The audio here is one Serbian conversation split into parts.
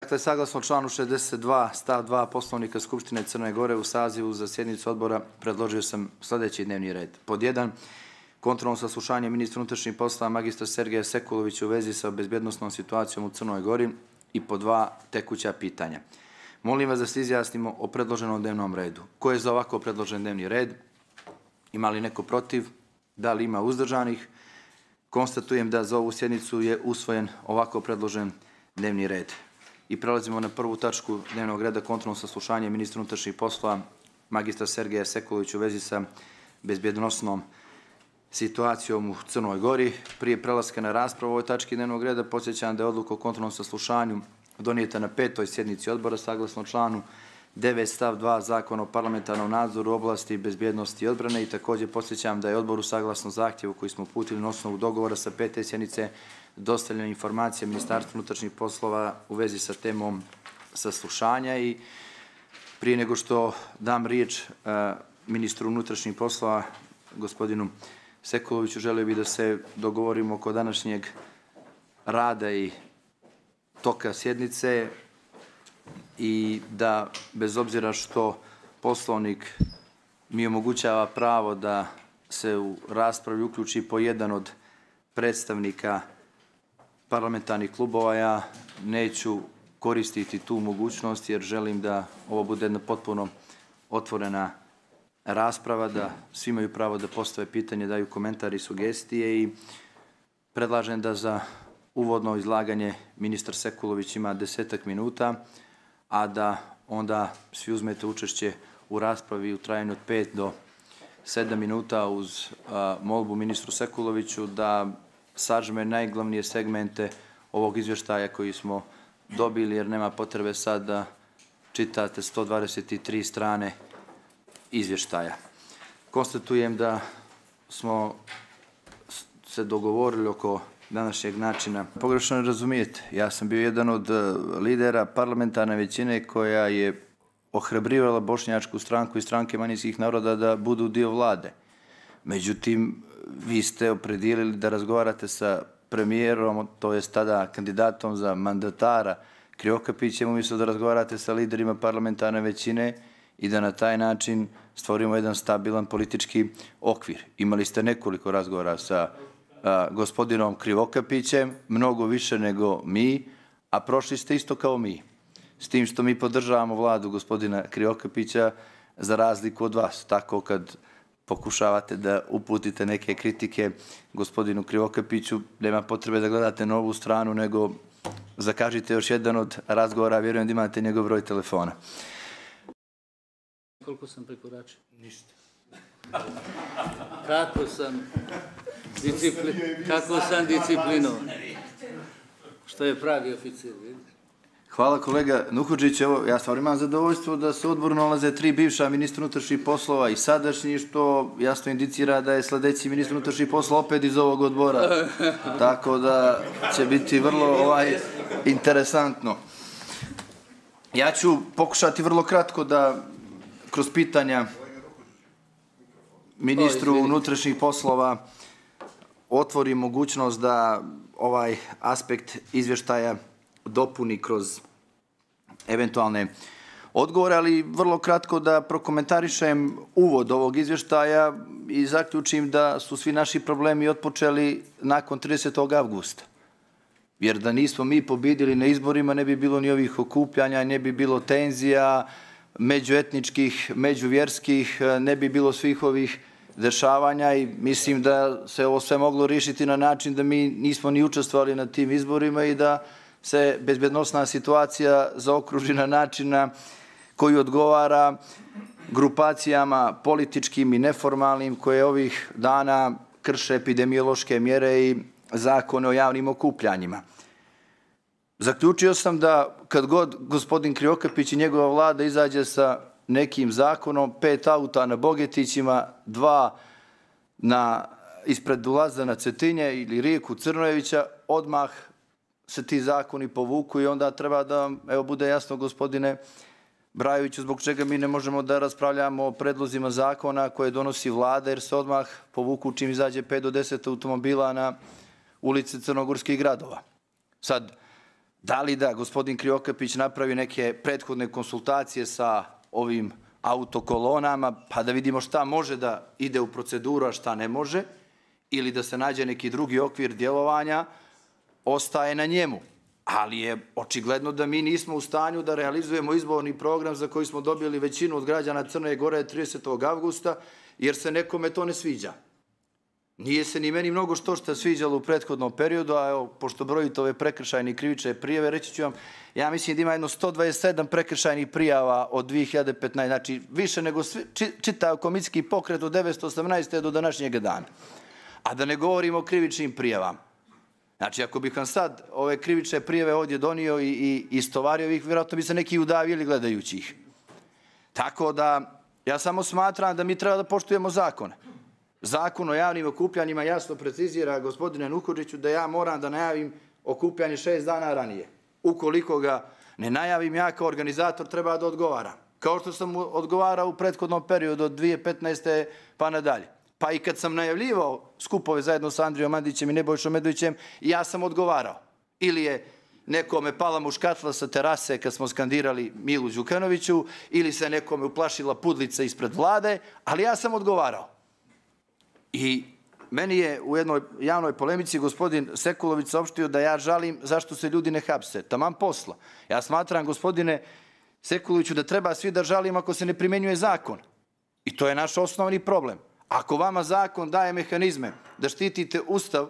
Dakle, saglasno članu 62 stav 2 Poslovnika Skupštine Crne Gore u sazivu za sjednicu odbora predložio sam sljedeći dnevni red. Pod 1. Kontrolno saslušanje ministra unutrašnjih poslova magistra Sergeja Sekulovića u vezi sa bezbjednosnom situacijom u Crnoj Gori i pod 2. Tekuća pitanja. Molim vas da se izjasnimo o predloženom dnevnom redu. Ko je za ovako predložen dnevni red? Ima li neko protiv? Da li ima uzdržanih? Konstatujem da za ovu sjednicu je usvojen ovako predložen dnevni red. I prelazimo na prvu tačku dnevnog reda, kontrolno saslušanje ministra unutrašnjih poslova magistra Sergeja Sekulovića u vezi sa bezbjednosnom situacijom u Crnoj Gori. Prije prelaska na raspravu o ovoj tački dnevnog reda podsjećam da je odluka o kontrolnom saslušanju donijeta na 5. sjednici odbora saglasno članu 9 stav 2 Zakona o parlamentarnom nadzoru u oblasti bezbjednosti i odbrane i također podsjećam da je odboru saglasno zahtjevu koji smo uputili na osnovu dogovora sa 5. sjednice dostavljena informacija Ministarstva unutrašnjih poslova u vezi sa temom saslušanja i prije nego što dam riječ ministru unutrašnjih poslova gospodinu Sekuloviću, želio bih da se dogovorimo oko današnjeg rada i toka sjednice i da bez obzira što Poslovnik mi omogućava pravo da se u raspravi uključi po jedan od predstavnika parlamentarnih klubova, ja neću koristiti tu mogućnost jer želim da ovo bude jedna potpuno otvorena rasprava, da svi imaju pravo da postave pitanje, daju komentari i sugestije i predlažem da za uvodno izlaganje ministar Sekulović ima 10 minuta, a da onda svi uzmete učešće u raspravi u trajanju od 5 do 7 minuta uz molbu ministru Sekuloviću da sažme najglavnije segmente ovog izvještaja koji smo dobili, jer nema potrebe sad da čitate 123 strane izvještaja. Konstatujem da smo se dogovorili oko današnjeg načina. Pogrešno ne razumijete, ja sam bio jedan od lidera parlamentarne većine koja je ohrabrivala bošnjačku stranku i stranke manjinskih naroda da budu dio vlade. Međutim, vi ste opredijelili da razgovarate sa premijerom, to jest tada kandidatom za mandatara Krivokapićem, umjesto da razgovarate sa liderima parlamentarne većine i da na taj način stvorimo jedan stabilan politički okvir. Imali ste nekoliko razgovora sa gospodinom Krivokapićem, mnogo više nego mi, a prošli ste isto kao mi. S tim što mi podržavamo vladu gospodina Krivokapića za razliku od vas. Tako kad pokušavate da uputite neke kritike gospodinu Krivokapiću, nema potrebe da gledate na ovu stranu, nego zakažite još jedan od razgovora, vjerujem da imate njegov broj telefona. Koliko sam prekoračio? Ništa. Kako sam disciplinovan. Što je pravi oficir, vidiš? Hvala kolega Nuhudžić, evo ja stvarno imam zadovoljstvo da se u odboru nalaze 3 bivša ministra unutrašnjih poslova i sadašnji, što jasno indicira da je sljedeći ministar unutrašnjih poslova opet iz ovog odbora. Tako da će biti vrlo interesantno. Ja ću pokušati vrlo kratko da kroz pitanja ministru unutrašnjih poslova otvori mogućnost da ovaj aspekt izvještaja dopuni kroz eventualne odgovore, ali vrlo kratko da prokomentarišem uvod ovog izvještaja i zaključim da su svi naši problemi otpočeli nakon 30. avgusta. Jer da nismo mi pobjedili na izborima, ne bi bilo ni ovih okupljanja, ne bi bilo tenzija međuetničkih, međuvjerskih, ne bi bilo svih ovih dešavanja i mislim da se ovo sve moglo riješiti na način da mi nismo ni učestvovali na tim izborima i da se bezbjednosna situacija zaokruži na način koji odgovara grupacijama političkim i neformalnim koje ovih dana krše epidemiološke mjere i zakone o javnim okupljanjima. Zaključio sam da kad god gospodin Krivokapić i njegova vlada izađe sa nekim zakonom, 5 auta na Bogetićima, 2 ispred ulaza na Cetinje ili rijeku Crnojevića, odmah se ti zakoni povuku i onda treba da vam bude jasno, gospodine Brajoviću, zbog čega mi ne možemo da raspravljamo o predlozima zakona koje donosi vlada, jer se odmah povuku čim izađe 5 do 10 automobila na ulice crnogorskih gradova. Sad, Da li da gospodin Krivokapić napravi neke prethodne konsultacije sa ovim autokolonama, pa da vidimo šta može da ide u proceduru, a šta ne može, ili da se nađe neki drugi okvir djelovanja, ostaje na njemu. Ali je očigledno da mi nismo u stanju da realizujemo izborni program za koji smo dobili većinu od građana Crne Gore 30. avgusta, jer se nekome to ne sviđa. Nije se ni meni mnogo što sviđalo u prethodnom periodu, a evo, pošto brojite ove prekršajne i krivične prijave, reći ću vam, ja mislim da ima jedno 127 prekršajnih prijava od 2015, znači više nego čitav komitski pokret od 1918. do današnjeg dana. A da ne govorimo o krivičnim prijavama. Znači, ako bih vam sad ove krivične prijave ovdje donio i istovario ih, vjerojatno bi se neki udavili gledajući ih. Tako da, ja samo smatram da mi treba da poštujemo zakone. Zakon o javnim okupljanjima jasno precizira, gospodine Nuhodžiću, da ja moram da najavim okupljanje 6 dana ranije. Ukoliko ga ne najavim, ja kao organizator treba da odgovaram. Kao što sam odgovarao u prethodnom periodu od 2015. pa nadalje. Pa i kad sam najavljivao skupove zajedno sa Andrijom Mandićem i Nebojšom Medovićem, ja sam odgovarao. Ili je nekome pala muškatla sa terase kad smo skandirali Milu Đukanoviću, ili se nekome uplašila pudlica ispred vlade, ali ja sam odgovarao. I meni je u jednoj javnoj polemici gospodin Sekulović saopštio da ja žalim zašto se ljudi ne hapse. Taman posla. Ja smatram, gospodine Sekuloviću, da treba svi da žalim ako se ne primenjuje zakon. I to je naš osnovni problem. Ako vama zakon daje mehanizme da štitite ustav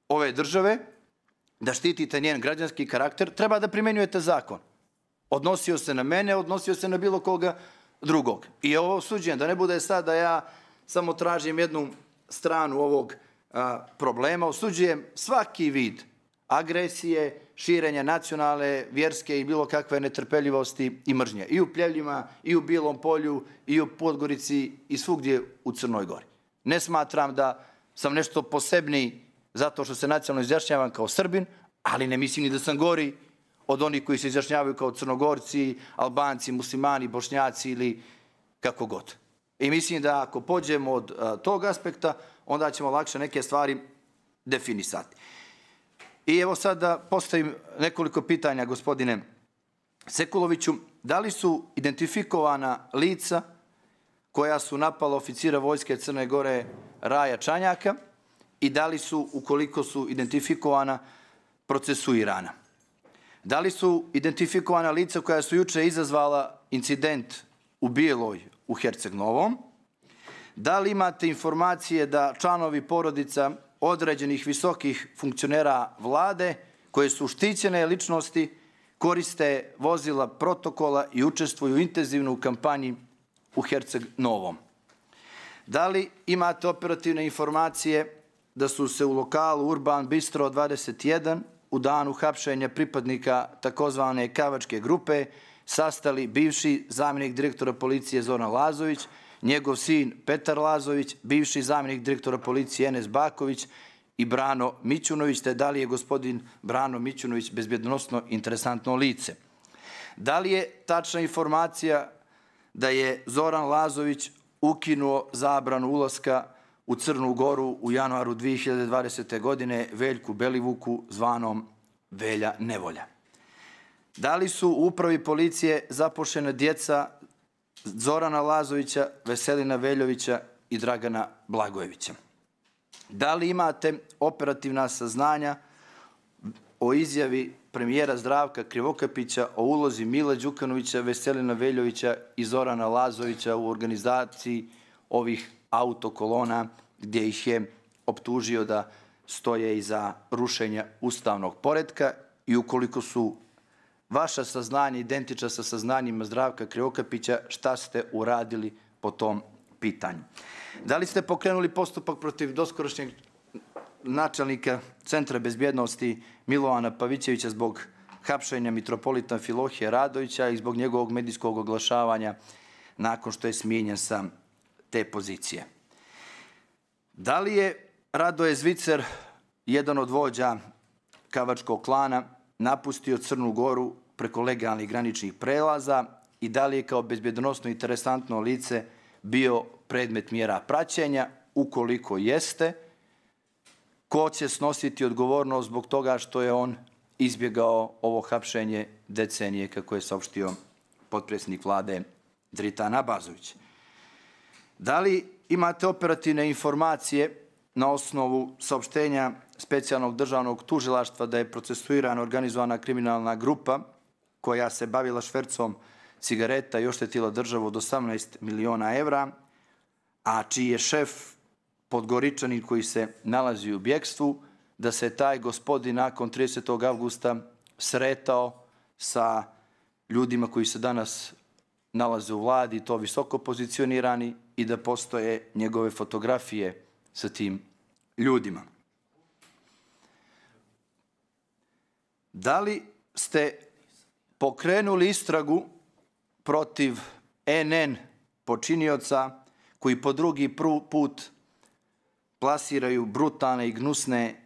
ove države, da štitite njen građanski karakter, treba da primenjujete zakon. Odnosio se na mene, odnosio se na bilo koga drugog. I ovo osuđujem, da ne bude sad da ja samo tražim jednu stranu ovog problema, osuđujem svaki vid agresije, širenja nacionalne, vjerske i bilo kakve netrpeljivosti i mržnje. I u Pljevljima, i u Bilom Polju, i u Podgorici, i svugdje u Crnoj Gori. Ne smatram da sam nešto posebniji zato što se nacionalno izjašnjavam kao Srbin, ali ne mislim ni da sam gori od onih koji se izjašnjavaju kao Crnogorci, Albanci, Muslimani, Bošnjaci ili kako god. I mislim da ako pođemo od tog aspekta, onda ćemo lakše neke stvari definisati. I evo sad da postavim nekoliko pitanja, gospodine Sekuloviću. Da li su identifikovana lica koja su napala oficira Vojske Crne Gore Raja Čanjaka i da li su, ukoliko su identifikovana, procesuirana? Da li su identifikovana lica koja su juče izazvala incident u Bijeloj u Herceg Novom? Da li imate informacije da članovi porodica određenih visokih funkcionera vlade koje su štićene ličnosti koriste vozila protokola i učestvuju intenzivno u kampanji u Herceg Novom? Da li imate operativne informacije da su se u lokalu Urban Bistro 21 u danu hapšenja pripadnika takozvane Kavačke grupe sastali bivši zamjenik direktora policije Zoran Lazović, njegov sin Petar Lazović, bivši zamjenik direktora policije Enes Baković i Brano Mićunović, te da li je gospodin Brano Mićunović bezbjednosno interesantno lice? Da li je tačna informacija da je Zoran Lazović ukinuo zabranu ulaska u Crnu Goru u januaru 2020. godine Veljku Belivuku zvanom Velja Nevolja? Da li su u upravi policije zaposlena djeca Zorana Lazovića, Veselina Veljovića i Dragana Blagojevića? Da li imate operativna saznanja o izjavi premijera Zdravka Krivokapića o ulozi Mila Đukanovića, Veselina Veljovića i Zorana Lazovića u organizaciji ovih autokolona gdje ih je optužio da stoje iza rušenja ustavnog poretka? I ukoliko su vaša saznanja identična sa saznanjima Zdravka Krivokapića, šta ste uradili po tom pitanju? Da li ste pokrenuli postupak protiv doskorašnjeg načelnika Centra bezbjednosti Milovana Pavićevića zbog hapšenja mitropolita Filohije Radovića i zbog njegovog medijskog oglašavanja nakon što je smijenjen sa te pozicije? Da li je Radoje Zvicer, jedan od vođa Kavačkog klana, napustio Crnu Goru preko legalnih graničnih prelaza i da li je kao bezbjednosno interesantno lice bio predmet mjera praćenja? Ukoliko jeste, ko će snositi odgovornost zbog toga što je on izbjegao ovo hapšenje decenije, kako je saopštio potpredsjednik vlade Dritan Abazović. Da li imate operativne informacije na osnovu saopštenja specijalnog državnog tužilaštva da je procesuirana organizovana kriminalna grupa koja se bavila švercom cigareta i oštetila državu od 18 miliona evra, a čiji je šef Podgoričanin koji se nalazi u bjekstvu, da se taj gospodin nakon 30. avgusta sretao sa ljudima koji se danas nalaze u vladi, to visoko pozicionirani, i da postoje njegove fotografije sa tim ljudima. Da li ste pokrenuli istragu protiv NN počinioca koji po drugi put plasiraju brutalne i gnusne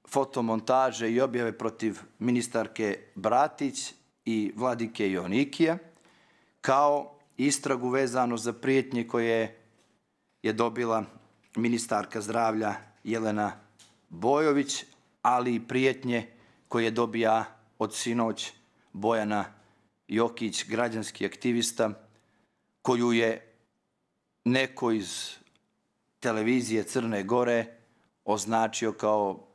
fotomontaže i objave protiv ministarke Bratić i vladike Joanikija, kao istragu vezano za prijetnje koje je dobila ministarka zdravlja Jelena Bojović, ali i prijetnje koje dobija od sinoć Bojana Jokić, građanski aktivista, koju je neko iz televizije Crne Gore označio kao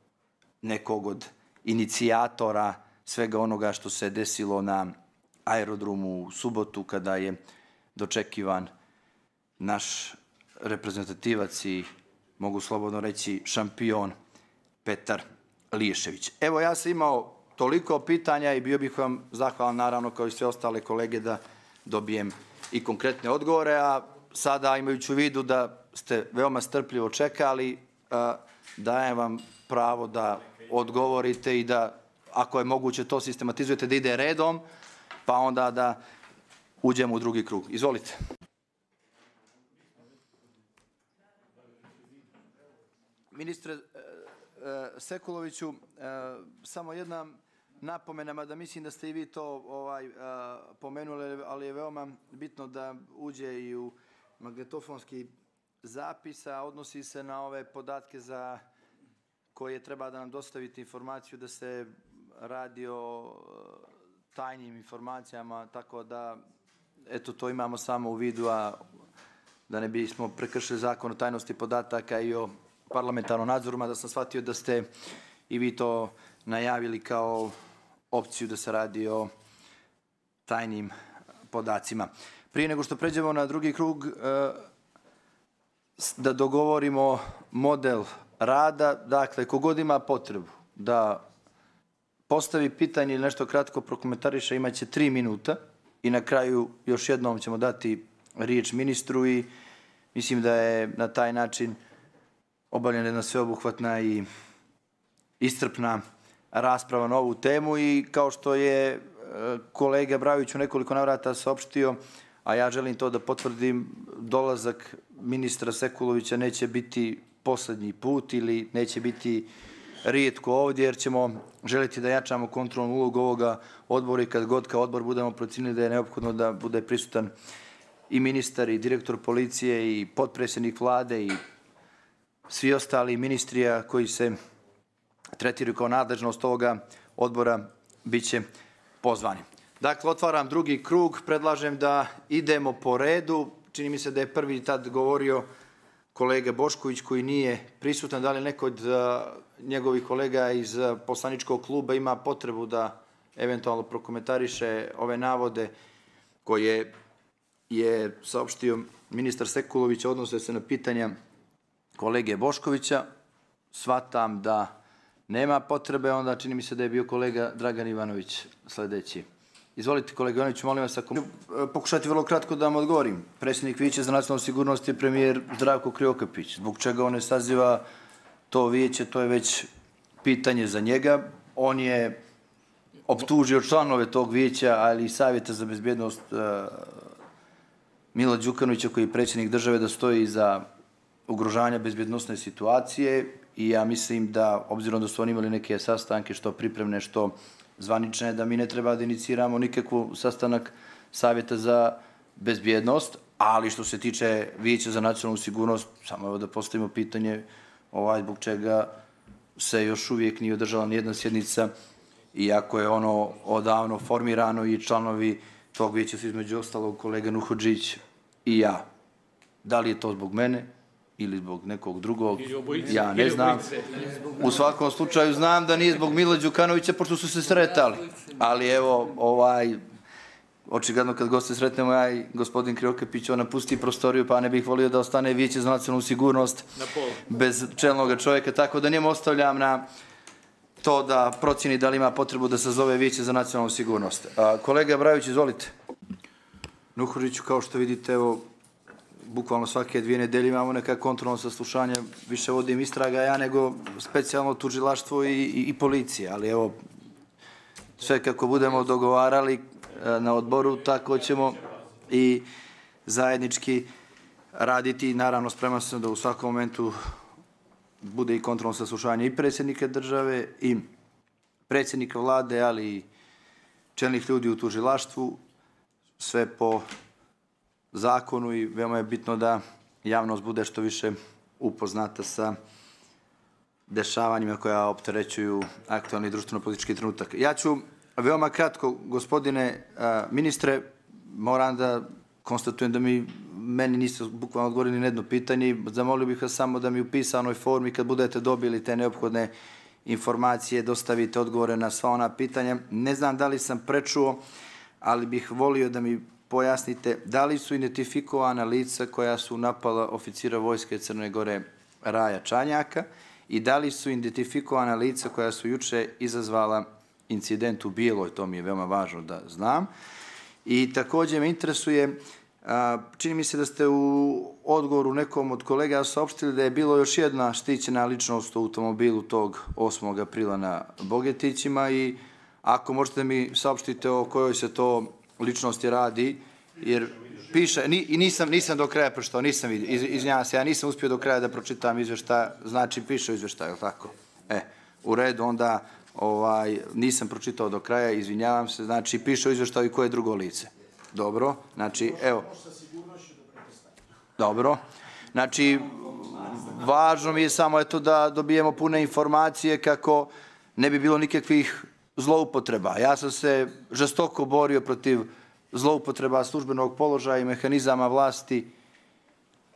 nekog od inicijatora svega onoga što se desilo na aerodromu u subotu kada je dočekivan naš reprezentativac i, mogu slobodno reći, šampion Petar Liješević. Evo, ja sam imao toliko pitanja i bio bih vam zahvalan, naravno, kao i sve ostale kolege, da dobijem i konkretne odgovore, a sada, imajući u vidu da ste veoma strpljivo čekali, dajem vam pravo da odgovorite i da, ako je moguće, to sistematizujete, da ide redom, pa onda da uđemo u drugi krug. Izvolite. Ministre Sekuloviću, samo jedna napomena, mada mislim da ste i vi to pomenuli, ali je veoma bitno da uđe i u magnetofonski zapis, a odnosi se na ove podatke za koje treba da nam dostavite informaciju da se radi o tajnim informacijama, tako da, eto, to imamo samo u vidu, a da ne bismo prekršili zakon o tajnosti podataka i o parlamentarnom nadzoru, da sam shvatio da ste i vi to najavili kao opciju da se radi o tajnim podacima. Prije nego što pređemo na drugi krug, da dogovorimo model rada, dakle, kogod ima potrebu da postavi pitanje ili nešto kratko prokomentariše, imaće 3 minuta i na kraju još jednom ćemo dati riječ ministru i mislim da je na taj način obavljena jedna sveobuhvatna i iscrpna rasprava na ovu temu i kao što je kolega Brajović u nekoliko navrata saopštio, a ja želim to da potvrdim, dolazak ministra Sekulovića neće biti poslednji put ili neće biti rijetko ovdje, jer ćemo želiti da jačamo kontrolnu ulogu ovoga odbora i kad god kao odbor budemo procenili da je neophodno da bude prisutan i ministar i direktor policije i potpredsjednik vlade i svi ostali ministrija koji se tretiraju kao nadležnost ovoga odbora bit će pozvani. Dakle, otvaram drugi krug, predlažem da idemo po redu. Čini mi se da je prvi tad govorio kolega Bošković koji nije prisutan. Da li neko od njegovih kolega iz poslaničkog kluba ima potrebu da eventualno prokomentariše ove navode koje je saopštio ministar Sekulović, odnose se na pitanja kolege Boškovića? Shvatam da nema potrebe, onda čini mi se da je bio kolega Dragan Ivanović sledeći. Izvolite, kolega Ivanović, molim vas, ako pokušati vrlo kratko da vam odgovorim. Predsjednik Vijeća za nacionalnu sigurnost je premijer Zdravko Krivokapić. Zbog čega on ne saziva to vijeće, to je već pitanje za njega. On je optužio članove tog vijeća, ali i Savjeta za bezbjednost Mila Đukanovića, koji je predsjednik države, da stoji iza ugrožanja bezbjednosne situacije i ja mislim da, obzirom da su oni imali neke sastanke, što pripremne, što zvanične, da mi ne treba da iniciramo nikakvu sastanak Savjeta za bezbjednost, ali što se tiče Vijeća za nacionalnu sigurnost, samo evo da postavimo pitanje zbog čega se još uvijek nije održala nijedna sjednica iako je ono odavno formirano i članovi tog vijeća su između ostalog kolega Nuhodžić i ja. Da li je to zbog mene ili zbog nekog drugog, ja ne znam. U svakom slučaju znam da nije zbog Mila Đukanovića, pošto su se sretali. Ali evo, očigledno kad goste sretnemo ja i gospodin Krivokapić, on napusti prostoriju, pa ne bih volio da ostane vijeće za nacionalnu sigurnost bez čelnog čovjeka, tako da njemu ostavljam na to da procjeni da li ima potrebu da se zove vijeće za nacionalnu sigurnost. Kolega Brajović, izvolite. Nuhodžiću, kao što vidite, evo, bukvalno svake 2 nedelje imamo neka kontrolno saslušanje, više vodim istraga ja nego specijalno tužilaštvo i policije, ali evo, sve kako budemo dogovarali na odboru, tako ćemo i zajednički raditi. Naravno, spreman sam da u svakom momentu bude i kontrolno saslušanje i predsjednika države i predsjednika vlade, ali i čelnih ljudi u tužilaštvu, sve po zakonu i veoma je bitno da javnost bude što više upoznata sa dešavanjima koja opterećuju aktualni društveno-politički trenutak. Ja ću veoma kratko, gospodine ministre, moram da konstatujem da meni niste bukvalno odgovorili na jedno pitanje. Zamolio bih vas samo da mi u pisanoj formi, kad budete dobili te neophodne informacije, dostavite odgovore na sva ona pitanja. Ne znam da li sam prečuo, ali bih volio da mi pojasnite da li su identifikovana lica koja su napala oficira Vojske Crne Gore Raja Čanjaka i da li su identifikovana lica koja su juče izazvala incident u Bijeloj, to mi je veoma važno da znam. I također me interesuje, čini mi se da ste u odgovoru nekom od kolega saopštili da je bilo još jedna štićena ličnost u automobilu tog 8. aprila na Bogetićima i ako možete mi saopštite o kojoj se to ličnosti radi, jer piše, i nisam do kraja pročitao, nisam vidio, izvinjavam se, ja nisam uspio do kraja da pročitam izveštaj, znači piše u izveštaju, tako? U redu, onda nisam pročitao do kraja, izvinjavam se, znači piše u izveštaju koje je drugo lice. Dobro, znači, evo. Dobro, znači, važno mi je samo eto da dobijemo pune informacije kako ne bi bilo nikakvih zloupotreba. Ja sam se žestoko borio protiv zloupotreba službenog položaja i mehanizama vlasti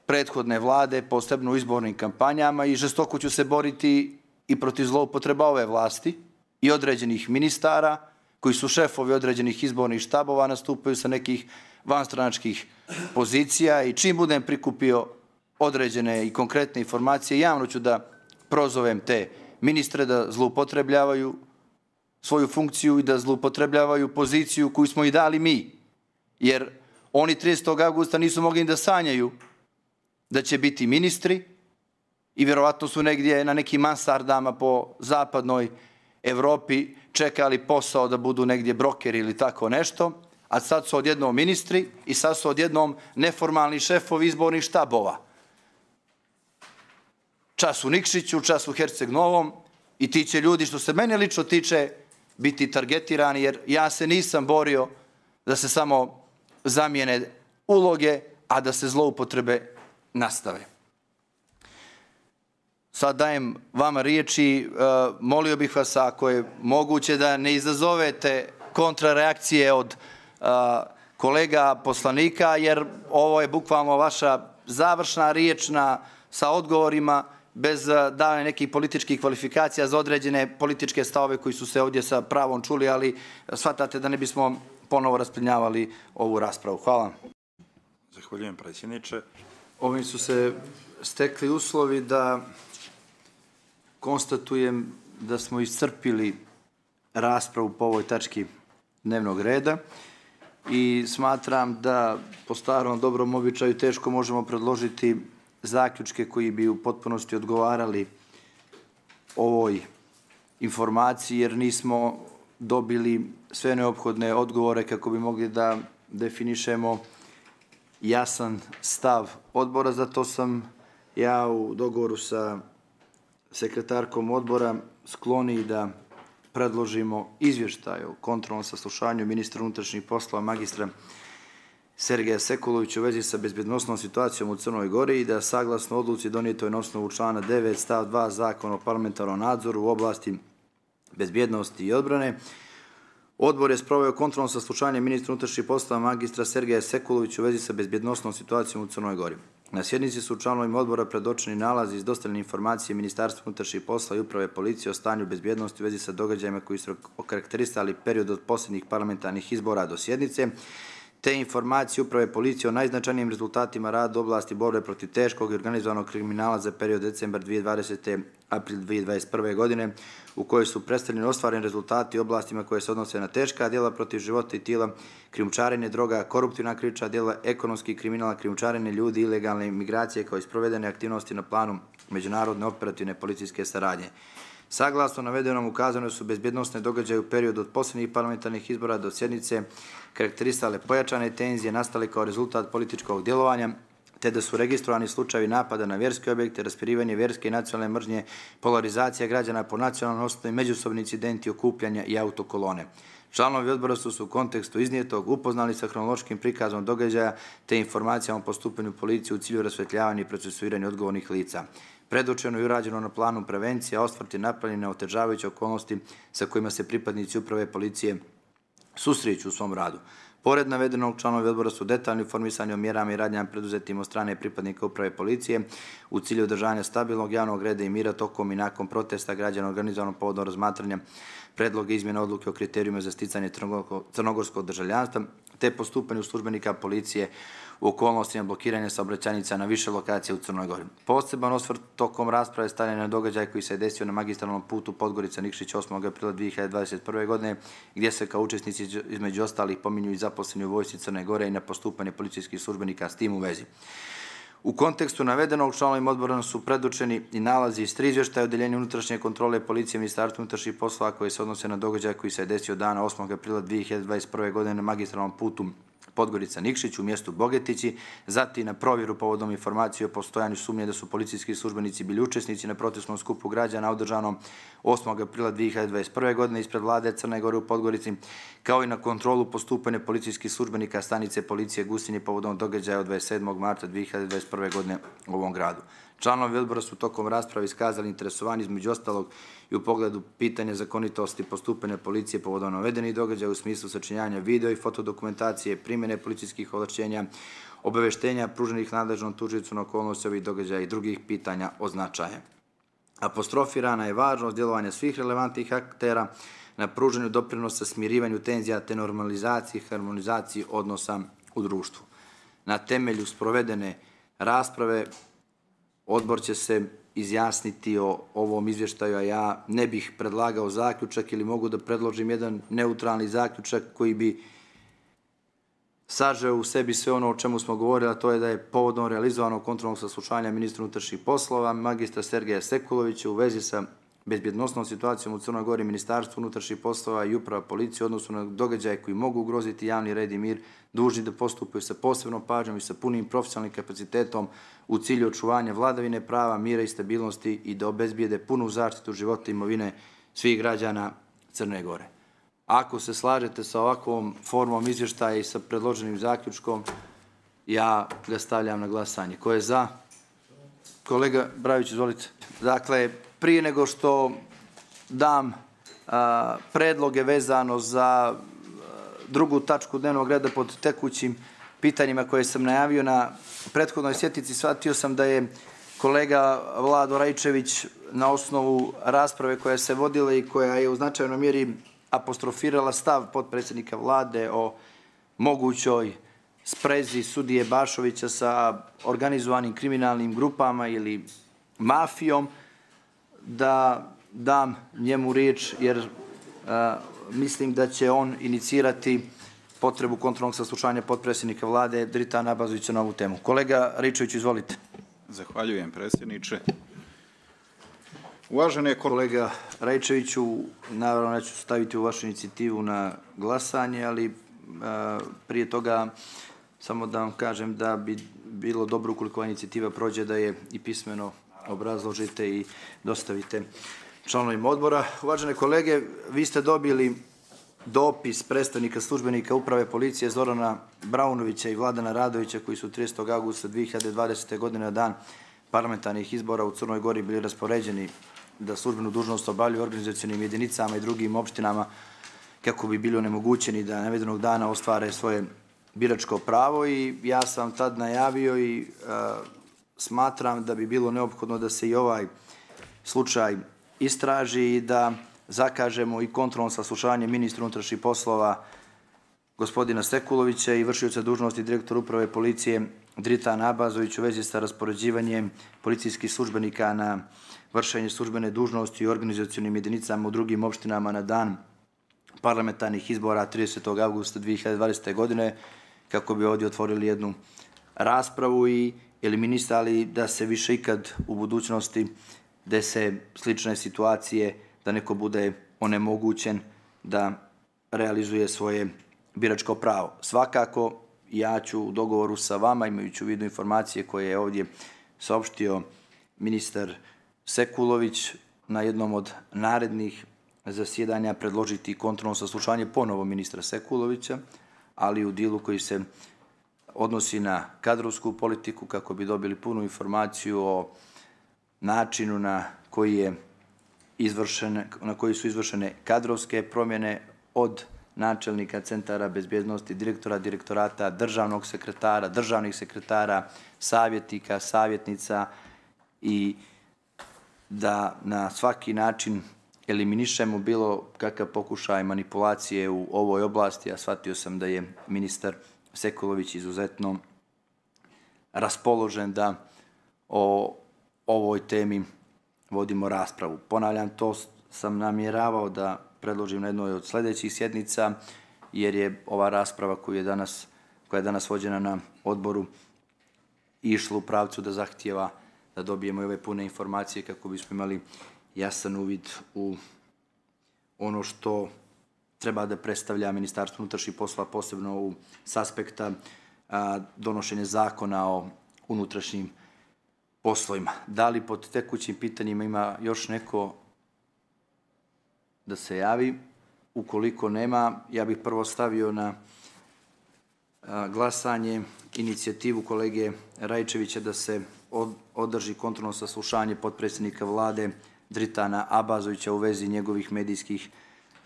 prethodne vlade, posebno u izbornim kampanjama i žestoko ću se boriti i protiv zloupotreba ove vlasti i određenih ministara koji su šefovi određenih izbornih štabova, nastupaju sa nekih vanstranačkih pozicija i čim budem prikupio određene i konkretne informacije, javno ću da prozovem te ministre da zloupotrebljavaju svoju funkciju i da zloupotrebljavaju poziciju koju smo i dali mi. Jer oni 30. avgusta nisu mogli da sanjaju da će biti ministri i vjerovatno su negdje na nekim mansardama po zapadnoj Evropi čekali posao da budu negdje brokeri ili tako nešto, a sad su odjednom ministri i sad su odjednom neformalni šefovi izbornih štabova. Čas u Nikšiću, čas u Herceg Novom i ti će ljudi, što se mene lično tiče, biti targetirani, jer ja se nisam borio da se samo zamijene uloge, a da se zloupotrebe nastave. Sad dajem vama riječi, molio bih vas ako je moguće da ne izazovete kontrareakcije od kolega poslanika, jer ovo je bukvalno vaša završna riječ sa odgovorima bez davanja nekih političkih kvalifikacija za određene političke stavove koji su se ovdje sa pravom čuli, ali shvatate da ne bismo ponovo rasplinjavali ovu raspravu. Hvala. Zahvaljujem, predsjedniče. Ovim su se stekli uslovi da konstatujem da smo iscrpili raspravu po ovoj tački dnevnog reda i smatram da po starom dobrom običaju teško možemo predložiti zaključke koji bi u potpunosti odgovarali ovoj informaciji, jer nismo dobili sve neophodne odgovore kako bi mogli da definišemo jasan stav odbora. Zato sam ja u dogovoru sa sekretarkom odbora skloniji da predložimo izvještaj o kontrolnom saslušanju ministra unutrašnjih poslova magistra Sergeja Sekulovića u vezi sa bezbednosnom situacijom u Crnoj Gori i da saglasno odluci donijetoj na osnovu člana 9 stav 2 Zakona o parlamentarnom nadzoru u oblasti bezbjednosti i odbrane. Odbor je sproveo kontrolno saslušanje ministra unutrašnjih poslova magistra Sergeja Sekulovića u vezi sa bezbjednosnom situacijom u Crnoj Gori. Na sjednici su članovima odbora predočeni nalazi iz dostavljene informacije Ministarstva unutrašnjih poslova i uprave policije o stanju bezbjednosti u vezi sa događajima koji su okarakterisali period od posljednjih parlamentarnih izbora do sjednice, te informacije uprave policije o najznačajnijim rezultatima rada u oblasti borbe protiv teškog i organizovanog kriminala za period decembar 2020. april 2021. godine, u kojoj su predstavljeni ostvareni rezultati u oblastima koje se odnose na teška djela protiv života i tijela, krijumčarenje droga, koruptivna krivična djela, ekonomski kriminal, krijumčarenje ljudi, ilegalne migracije kao i sprovedene aktivnosti na planu međunarodne operativne policijske saradnje. Saglasno navedenom ukazane su bezbjednosne događaje u periodu od posljednjih parlamentarnih izbora do sjednice karakterisale pojačane tenzije nastale kao rezultat političkog djelovanja, te da su registrovani slučajevi napada na vjerske objekte, raspirivanje vjerske i nacionalne mržnje, polarizacija građana po nacionalnoj osnovi, međusobni incidenti, okupljanja i autokolone. Članovi odbora su u kontekstu iznijetog upoznali sa hronološkim prikazom događaja te informacijama o postupanju policije u cilju rasvetljavanja i procesuiranja odgovornih lica. Predočeno i urađeno na planu prevencija, osvrt je napravljen na otežavajuće okolnosti sa kojima se pripadnici uprave policije susreću u svom radu. Pored navedenog, članovi odbora su detaljno informisani o mjerama i radnjama preduzetim od strane pripadnika uprave policije u cilju održanja stabilnog javnog reda i mira tokom i nakon protesta građana organizovanog povodom razmatranja predloga izmjena odluke o kriterijima za sticanje crnogorskog državljanstva, te postupanju službenika policije u okolnostima blokiranja saobraćajnica na više lokacija u Crnoj Gori. Poseban osvrt tokom rasprave stavljen na događaj koji se desio na magistralnom putu Podgorica-Nikšić 8. aprila 2021. godine, gdje se kao učesnici između ostalih pominju i zaposleni u vojsci Crne Gore i na postupanje policijskih službenika s tim u vezi. U kontekstu navedenog, članovima odbora su predočeni i nalazi iz 3 izvještaja Odeljenja unutrašnje kontrole policije Ministarstva unutrašnjih poslova koji se odnose na događaj koji se desio dana 8. aprila 2021. godine na magistralnom putu Podgorica-Nikšić u mjestu Bogetići, zatim na provjeru povodom informacije o postojanju sumnje da su policijski službenici bili učesnici na protestnom skupu građana održanom 8. aprila 2021. godine ispred vlade Crne Gore u Podgorici, kao i na kontrolu postupanja policijskih službenika stanice policije Gusinje povodom događaja od 27. marta 2021. godine u ovom gradu. Članovi odbora su tokom rasprave iskazali interesovanje između ostalog i u pogledu pitanja zakonitosti postupanja policije povodom navedenih događaja u smislu sačinjavanja video i fotodokumentacije, primjene policijskih ovlašćenja, obaveštenja pruženih nadležnom tužiocu na okolnosti ovih događaja i drugih pitanja o značaju. Apostrofirana je važnost djelovanja svih relevantnih aktera na pruženju doprinosa smirivanju tenzija te normalizaciji i harmonizaciji odnosa u društvu. Na temelju sprovedene rasprave odbor će se izjasniti o ovom izvještaju, a ja ne bih predlagao zaključak ili mogu da predložim jedan neutralni zaključak koji bi sažeo u sebi sve ono o čemu smo govorili, a to je da je povodom realizovanog kontrolnog saslušanja ministra unutrašnjih poslova magistra Sergeja Sekulovića u vezi sa bezbjednosnom situacijom u Crnoj Gori, Ministarstvo unutrašnjih poslova i uprava policije u odnosu na događaje koji mogu ugroziti javni red i mir, dužni da postupaju sa posebnom pažnjom i sa punim profesionalnim kapacitetom u cilju očuvanja vladavine prava, mira i stabilnosti i da obezbijede punu zaštitu života i imovine svih građana Crne Gore. Ako se slažete sa ovakvom formom izvještaja i sa predloženim zaključkom, ja ga stavljam na glasanje. Ko je za? Kolega Brajović, izvolite. Dakle, prije nego što dam predloge vezano za drugu tačku dnevnog reda pod tekućim pitanjima koje sam najavio na prethodnoj sjednici, shvatio sam da je kolega Vlado Raičević na osnovu rasprave koja se vodila i koja je u značajnoj mjeri apostrofirala stav potpredsjednika vlade o mogućoj sprezi sudije Bašovića sa organizovanim kriminalnim grupama ili mafijom, da dam njemu riječ jer mislim da će on inicirati potrebu kontrolnog saslušanja potpredsjednika vlade Dritana Abazovića na ovu temu. Kolega Raičević, izvolite. Zahvaljujem, predsjedniče. Uvažene kolega Raičeviću, naravno neću staviti u vašu inicijativu na glasanje, ali prije toga samo da vam kažem da bi bilo dobro ukoliko inicijativa prođe da je i pismeno obrazložite i dostavite članovima odbora. Uvažene kolege, vi ste dobili dopis predstavnika službenika uprave policije Zorana Braunovića i Vladana Radovića koji su 30. augusta 2020. godine na dan parlamentarnih izbora u Crnoj Gori bili raspoređeni da službenu dužnost obavljaju organizacionim jedinicama i drugim opštinama kako bi bili onemogućeni da navedenog dana ostvare svoje biračko pravo i ja sam tad najavio i smatram da bi bilo neophodno da se i ovaj slučaj istraži i da zakažemo i kontrolno saslušanje ministra unutrašnjih poslova gospodina Sekulovića i vršioca dužnosti direktora uprave policije Dritana Abazovića u vezi sa raspoređivanjem policijskih službenika na vršenje službene dužnosti u organizacionim jedinicama u drugim opštinama na dan parlamentarnih izbora 30. avgusta 2020. godine, kako bi ovdje otvorili jednu raspravu i eliminisali da se više ikad u budućnosti dese slične situacije, da neko bude onemogućen da realizuje svoje biračko pravo. Svakako, ja ću u dogovoru sa vama, imajući u vidu informacije koje je ovdje saopštio ministar Sekulović, na jednom od narednih zasjedanja predložiti kontrolno saslušanje ponovo ministra Sekulovića, ali u dijelu koji se odnosi na kadrovsku politiku, kako bi dobili punu informaciju o načinu na koji su izvršene kadrovske promjene od načelnika centara bezbjednosti, direktora direktorata, državnog sekretara, državnih sekretara, savjetnika, savjetnica i da na svaki način eliminišemo bilo kakav pokušaj manipulacije u ovoj oblasti, a shvatio sam da je ministar Sekulović izuzetno raspoložen da o ovoj temi vodimo raspravu. Ponavljam, to sam namjeravao da predložim na jednoj od sljedećih sjednica, jer je ova rasprava koja je danas vođena na odboru išla u pravcu da zahtijeva da dobijemo i ove pune informacije kako bismo imali jasan uvid u ono što treba da predstavlja Ministarstvo unutrašnjih poslova, posebno s aspekta donošenja zakona o unutrašnjim poslovima. Da li pod tekućim pitanjima ima još neko da se javi? Ukoliko nema, ja bih prvo stavio na glasanje inicijativu kolege Rajčevića da se održi kontrolno saslušanje potpredsjednika vlade Dritana Abazovića u vezi njegovih medijskih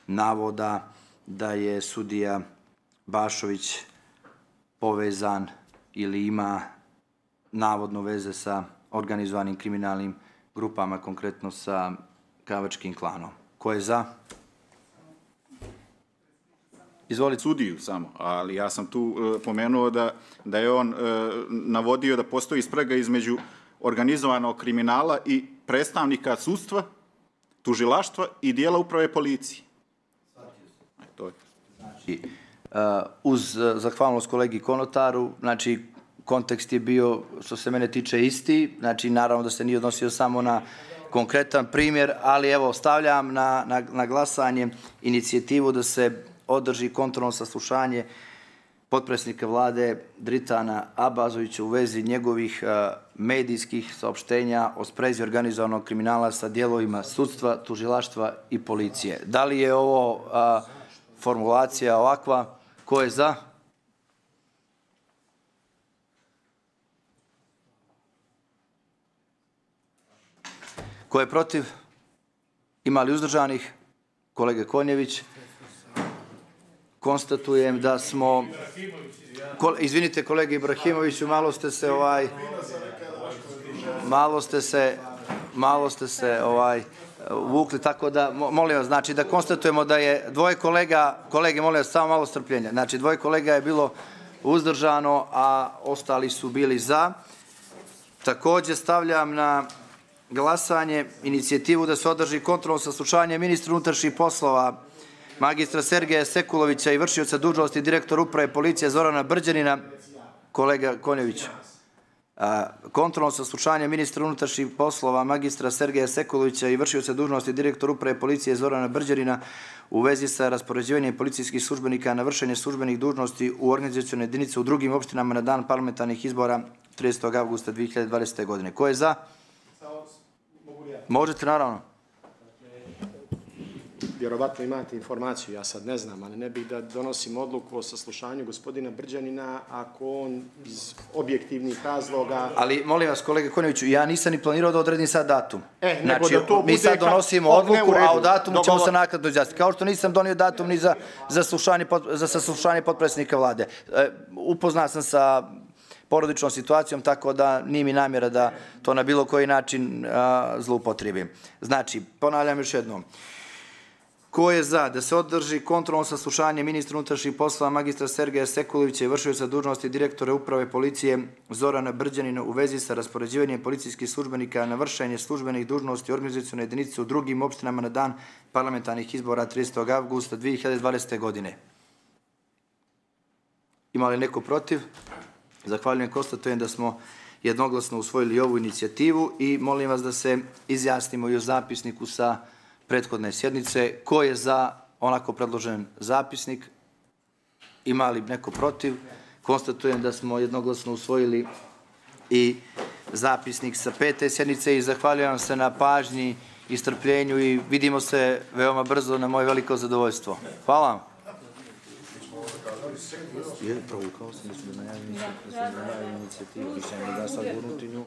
navoda da je sudija Bašović povezan ili ima navodno veze sa organizovanim kriminalnim grupama, konkretno sa Kavačkim klanom. Ko je za? Izvolite. Sudiju samo, ali ja sam tu pomenuo da je on navodio da postoji sprega između organizovanog kriminala i predstavnika sudstva, tužilaštva i dijela uprave policije. Znači, uz zahvalnost kolegi Konotaru, znači, kontekst je bio, što se mene tiče, isti, znači, naravno da se nije odnosio samo na konkretan primjer, ali evo, stavljam na glasanje inicijativu da se održi kontrolno saslušanje potpredsjednika vlade Dritana Abazovića u vezi njegovih medijskih saopštenja o sprezi organizovanog kriminala sa dijelovima sudstva, tužilaštva i policije. Da li je ovo formulacija ovakva? Ko je za? Ko je protiv? Ima li uzdržanih? Kolege Konjević. Konstatujem da smo... Izvinite, kolege Ibrahimoviću, malo ste se uvukli, tako da, molim vas, znači da konstatujemo da je dvoje kolega, kolege, molim vas, samo malo strpljenja, znači dvoje kolega je bilo uzdržano, a ostali su bili za. Također stavljam na glasanje inicijativu da se održi kontrolno saslušanje ministra unutrašnjih poslova magistra Sergeja Sekulovića i vršioca dužnosti direktora uprave policije Zorana Brđanina. Kolega Konjević. Kontrolno saslušanje ministra unutrašnjih poslova magistra Sergeja Sekulovića i vršioca dužnosti direktora uprave policije Zorana Brđanina u vezi sa raspoređivanjem policijskih službenika na vršenje službenih dužnosti u organizacione jedinice u drugim opštinama na dan parlamentarnih izbora 30. avgusta 2020. godine. Ko je za? Možete, naravno. vjerovatno imate informaciju, ja sad ne znam, ali ne bih da donosim odluku o saslušanju gospodina Brđanina ako on iz objektivnih razloga... Ali, molim vas, kolega Konjeviću, ja nisam ni planirao da odredim sad datum. Nego da to bude... Mi sad donosimo odluku, a o datumu ćemo se nakladno izjasniti. Kao što nisam donio datum ni za saslušanje potpredsjednika vlade. Upoznao sam sa porodičnom situacijom, tako da nije mi namjera da to na bilo koji način zloupotrijebim. Znači, ponavljam još jednom. Ko je za da se održi kontrolno saslušanje ministra unutrašnjih poslova magistra Sergeja Sekulovića i vršioca dužnosti direktora uprave policije Zorana Brđanina u vezi sa raspoređivanjem policijskih službenika na vršenje službenih dužnosti u organizacionoj jedinici u drugim opštinama na dan parlamentarnih izbora 30. avgusta 2020. godine? Ima li neko protiv? Zahvaljujem, konstatujem da smo jednoglasno usvojili ovu inicijativu i molim vas da se izjasnimo i o zapisniku sa prethodne sjednice. Ko je za onako predložen zapisnik? Ima li neko protiv? Konstatujem da smo jednoglasno usvojili i zapisnik sa 5. sjednice i zahvaljujem se na pažnji i strpljenju i vidimo se veoma brzo na moje veliko zadovoljstvo. Hvala vam. Provukao sam da najavim inicijativu, više ne da sad gurnuti nju.